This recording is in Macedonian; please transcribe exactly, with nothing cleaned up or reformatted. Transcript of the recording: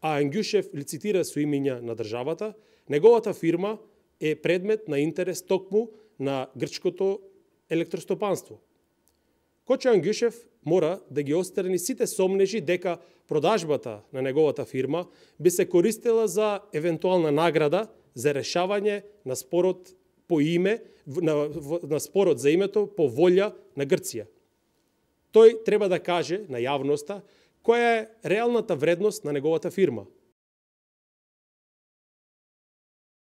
а Ангјушев лицитира со имиња на државата, неговата фирма е предмет на интерес токму на грчкото електростопанство. Кочо Ангјушев мора да ги острани сите сомнежи дека продажбата на неговата фирма би се користела за евентуална награда за решавање на спорот по име, на, на спорот за името по волја на Грција. Тој треба да каже на јавноста која е реалната вредност на неговата фирма.